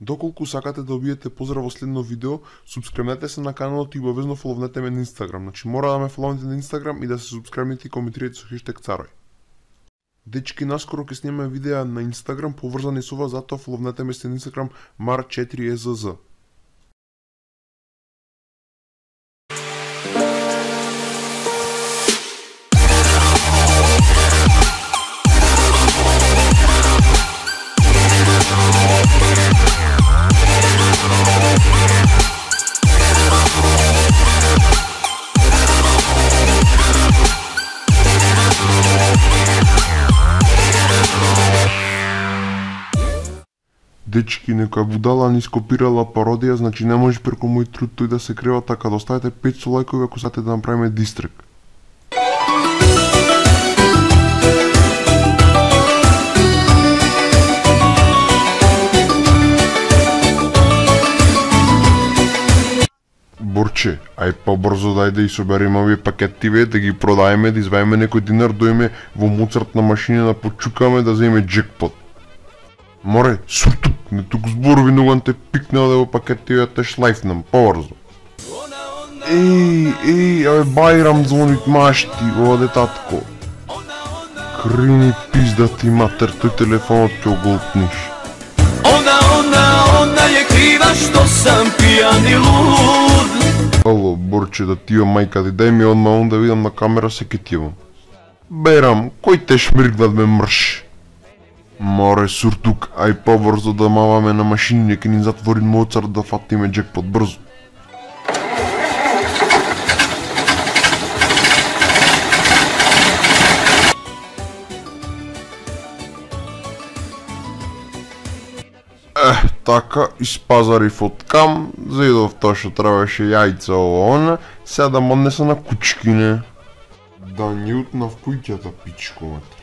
Доколку сакате да добиете поздрав во следно видео, субскрибнете се на каналот и обавезно фоловнете ме на Инстаграм. Значи мора да ме фоловнете на Инстаграм и да се субскрибнете и коментирате со хештег Царој. Дечки, наскоро ќе снимаме видеа на Инстаграм поврзани со ова, затоа фоловнете ме на Инстаграм mar4ezz. Дечки, некоја будала ни скопирала пародија, значи не може преку мој труд тој да се крева, така да оставете 500 лајкови ако сакате да направиме дистрек. Борче, ај побрзо дајде и собериме овие пакетиве, да ги продаеме, да изваиме некој динар, доиме во Моцарт на машина да почукаме да земе джекпот. Море, суртук, не тук зборови ноган те пикнал да во пакетивата шлајфнам, побрзо. Абе Бајрам звонит машти, оде татко. Крини пизда ти матер, тој телефонот ќе оголтниш. Ona je kriva što sam pijan i lud. Ало, Борче, да ти мајка ти, дај ми одма да видам на камера се ке тивам. Бајрам, кој те шмиргнат ме мрш? Море, суртук, ај побрзо да маваме на машини, нека ни затвори Моцарт да фатиме джекпот, брзо. Така, испазарив од кам, заидов тоа што требаше јајца ово сега да моднеса на кучкине. Да ни утнав куќата, пичко матер.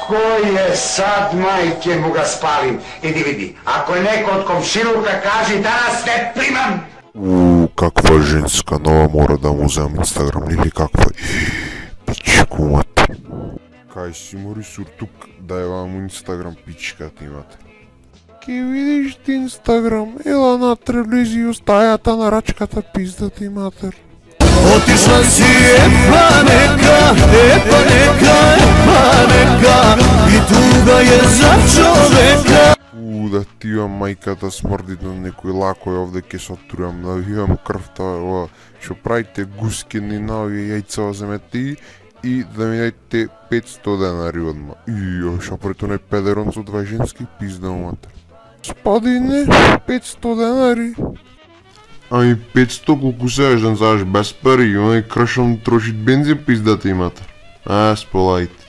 Кој е сад, мајке му га спалим? Иди види, ако е некој од комшилука, кажи данас не примам! Каква женска, нова мора да му земам Инстаграм, или каква? Пичко матер. Кај си мори суртук, дај вам Инстаграм, пичка ти имате. Ке видиш ти Инстаграм, ела натре влези у стајата на рачката, пизда ти матер. Otišla si pa neka I tuga je za čoveka. Да ти имам мајката смрди на некој лакој овде ке се отрувам, да ви имам крвта, што правите гускини на овие јајца земете и да ми дадете 500 денари одма. Шо прето не педерон со два женски пизда матер. Спадине, 500 денари. Ами 500 колку се еждан зааш без пари, онај кршам трошит бензин пиздата имате. Сполајте.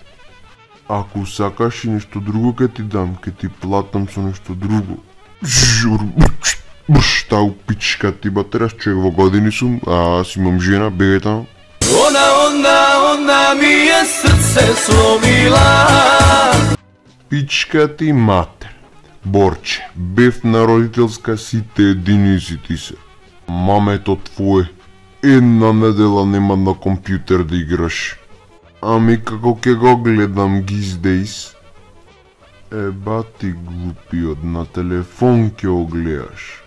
Ако сакаш и нешто друго ке ти дам, ке ти платам со нешто друго. Жур, тау пичка ти батерас, човек во години сум, аз имам жена, бегај таму. Ona mi je srce slomila. Пичка ти матер. Борче, бев на родителска сите единици ти се. Мамето твое, една недела нема на компјутер да играш. Ами како ќе го гледам these days? Еба ти глупиот, на телефон ќе го гледаш.